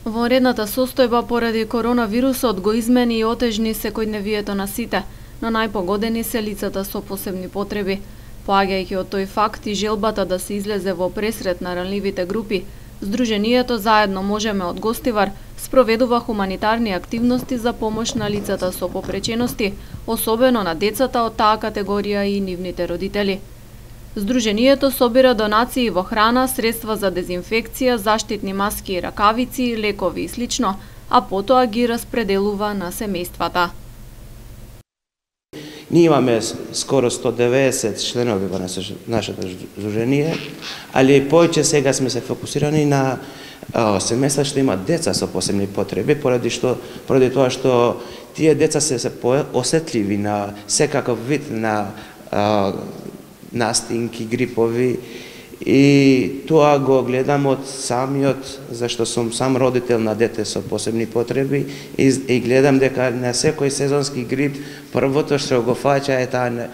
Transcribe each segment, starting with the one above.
Вонредната состојба поради коронавирусот го измени и отежни секојдневието на сите, но најпогодени се лицата со посебни потреби. Поаѓајќи од тој факт и желбата да се излезе во пресрет на ранливите групи, Сдруженијето Заедно можеме од Гостивар спроведува хуманитарни активности за помош на лицата со попречености, особено на децата од таа категорија и нивните родители. Сдруженијето собира донации во храна, средства за дезинфекција, заштитни маски и ракавици, лекови и слично, а потоа ги распределува на семејствата. Ние имаме скоро 190 членови во нашето здружение, али повеќе сега сме се фокусирани на семејства што имаат деца со посебни потреби, поради тоа што тие деца се осетливи на секаков вид на настинки, грипови, и тоа го гледам од самиот, зашто сум сам родител на дете со посебни потреби и гледам дека на секој сезонски грип првото што го фаќа е таа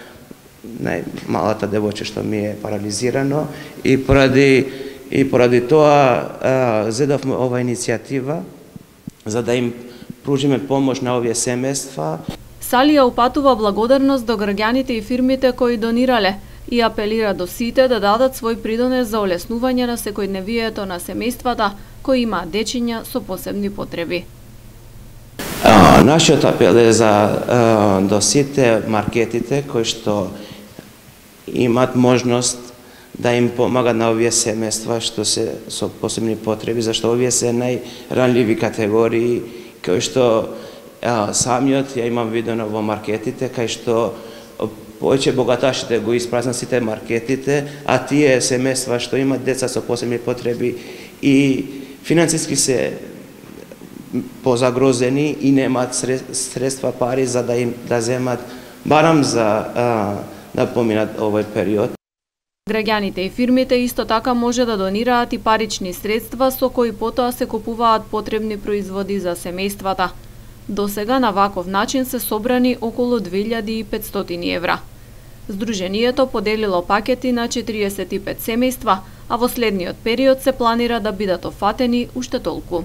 најмалата девојче што ми е парализирано и поради тоа зедовме ова иницијатива за да им пружиме помош на овие семејства. Салија упатува благодарност до граѓаните и фирмите кои донирале и апелира до сите да дадат свој придонес за олеснување на секојдневието на семејствата кои имаат дечиња со посебни потреби. Нашиот апел е за до сите маркетите кои што имаат можност да им помагат на овие семејства што се со посебни потреби, зашто овие се најранливи категории кои што самиот ја имам видено во маркетите, кај што повеќе богаташите го испразнат сите маркетите, а тие семејства што имаат деца со посебни потреби и финансиски се позагрозени и немаат средства, пари за да земат барам за да поминат овој период. Граѓаните и фирмите исто така може да донираат и парични средства со кои потоа се купуваат потребни производи за семејствата. До сега на ваков начин се собрани околу 2500 евра. Сдруженијето поделило пакети на 45 семејства, а во следниот период се планира да бидат офатени уште толку.